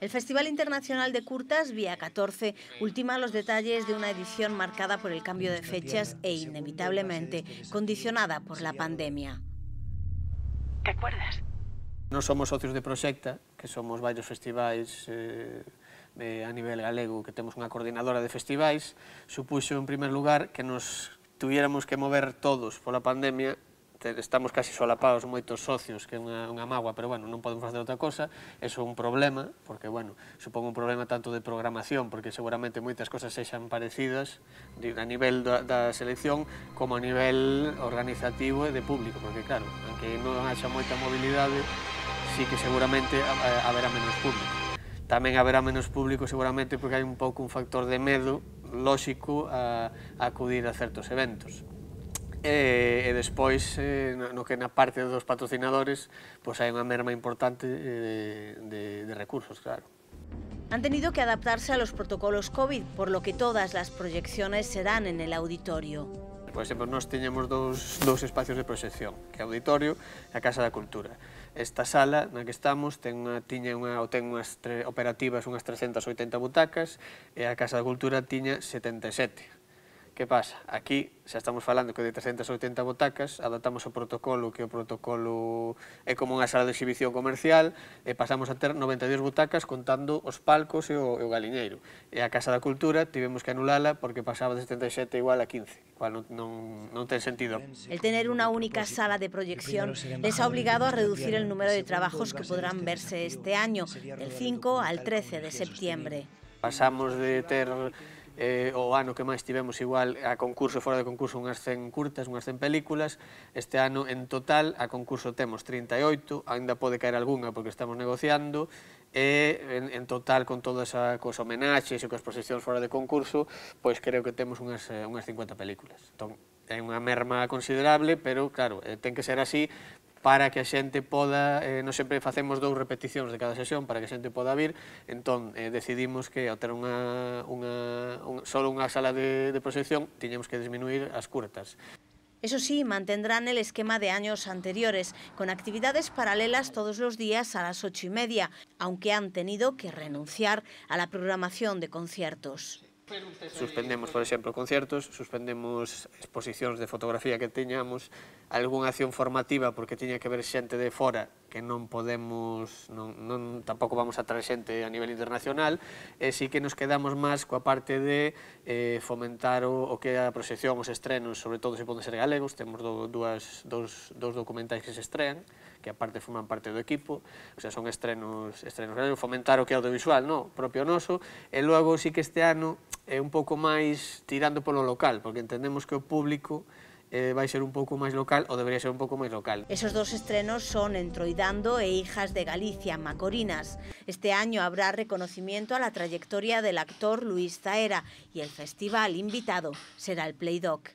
El Festival Internacional de Curtas, Vía 14, ultima los detalles de una edición marcada por el cambio de fechas e inevitablemente condicionada por la pandemia. ¿Te acuerdas? Nós somos socios de Proxecta, que somos varios festivais a nivel galego, que temos unha coordinadora de festivais. Supuxo, en primer lugar, que nos tuviéramos que mover todos pola pandemia. Estamos casi solapados moitos socios, que é unha mágoa, pero bueno, non podemos facer outra cosa. Eso é un problema, porque, bueno, supón un problema tanto de programación, porque seguramente moitas cosas sexan parecidas a nivel da selección, como a nivel organizativo e de público, porque, claro, aunque non haxa moita mobilidade, sí que seguramente haberá menos público. Tamén haberá menos público seguramente porque hai un pouco un factor de medo lóxico a acudir a certos eventos. E despois, no que na parte dos patrocinadores, pois hai unha merma importante de recursos, claro. Han tenido que adaptarse a los protocolos COVID, por lo que todas las proyecciones serán en el auditorio. Por exemplo, nós teñemos dous espacios de proxección, que é o auditorio e a Casa da Cultura. Esta sala na que estamos ten unhas operativas unhas 380 butacas e a Casa da Cultura tiña 77. Que pasa? Aquí xa estamos falando que de 380 butacas adaptamos o protocolo, que o protocolo é como unha sala de exhibición comercial, e pasamos a ter 92 butacas contando os palcos e o galiñeiro. E a Casa da Cultura tivemos que anulala porque pasaba de 77 igual a 15, igual non ten sentido. El tener una única sala de proyección les ha obligado a reducir el número de trabajos que podrán verse este año, del 5 al 13 de septiembre. Pasamos de ter o ano que máis tivemos igual a concurso, fora de concurso, unhas 100 curtas, unhas 100 películas. Este ano, en total, a concurso temos 38, ainda pode caer algunha porque estamos negociando, e en total, con todas as homenaxes e coas proxeccións fora de concurso, pois creo que temos unhas 50 películas. Entón, é unha merma considerable, pero, claro, ten que ser así para que a xente poda, non sempre facemos 2 repeticións de cada sesión para que a xente poda vir, entón decidimos que ao ter só unha sala de proxección tiñamos que disminuir as curtas. Eso sí, mantendrán el esquema de años anteriores, con actividades paralelas todos los días a las 8:30, aunque han tenido que renunciar a la programación de conciertos. Suspendemos, por exemplo, conciertos, suspendemos exposicións de fotografía que teñamos, algunha acción formativa porque tiña que ver xente de fora que non podemos, tampouco vamos a traer xente a nivel internacional, e sí que nos quedamos máis coa parte de fomentar o que é a proxección, os estrenos, sobre todo se poden ser galegos, temos dous documentais que se estrean, que aparte forman parte do equipo, o sea, son estrenos galegos, fomentar o que é audiovisual, propio noso, e logo sí que este ano é un pouco máis tirando polo local, porque entendemos que o público vai ser un pouco máis local, ou debería ser un pouco máis local. Esos 2 estrenos son Entroidando e Hijas de Galicia, Macorinas. Este año habrá reconocimiento a la trayectoria del actor Luis Zaera y el festival invitado será el Playdoc.